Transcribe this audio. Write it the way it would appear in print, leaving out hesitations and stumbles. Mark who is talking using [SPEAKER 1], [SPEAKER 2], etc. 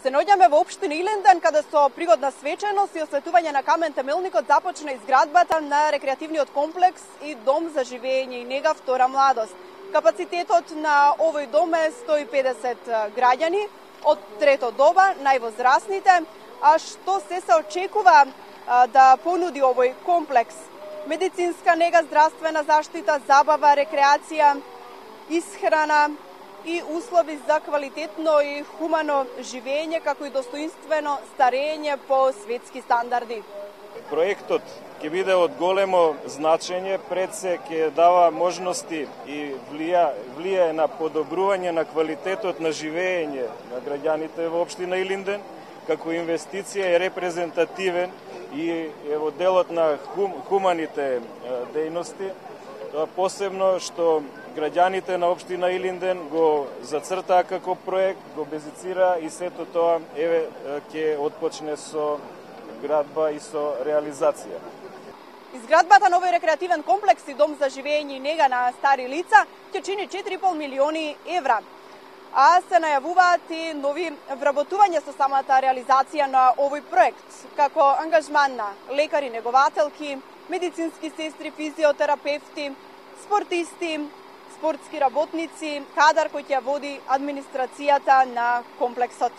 [SPEAKER 1] Се наоѓаме во општина Илинден, каде со пригодна свеченост и осветување на камен темелникот започна изградбата на рекреативниот комплекс и дом за живење и нега втора младост. Капацитетот на овој дом е 150 граѓани, од трето доба, највозрасните, а што се очекува да понуди овој комплекс? Медицинска нега, здравствена заштита, забава, рекреација, исхрана и услови за квалитетно и хумано живење, како и достоинствено старење по светски стандарди.
[SPEAKER 2] Проектот ќе биде од големо значење, пред се ќе дава можности и влијае на подобрување на квалитетот на живење на граѓаните во општина Илинден, како инвестиција е репрезентативен и во делот на хуманите дејности, посебно што граѓаните на општина Илинден го зацртаа како проект, го безицира и сето тоа ќе отпочне со градба и со реализација.
[SPEAKER 1] Изградбата на овој рекреативен комплекс и дом за живење и нега на стари лица ќе чини 4,5 милиони евра, а се најавуваат и нови вработувања со самата реализација на овој проект, како ангажман на лекари, негователки, медицински сестри, физиотерапевти, спортисти, спортски работници, кадар кој ќе води администрацијата на комплексот.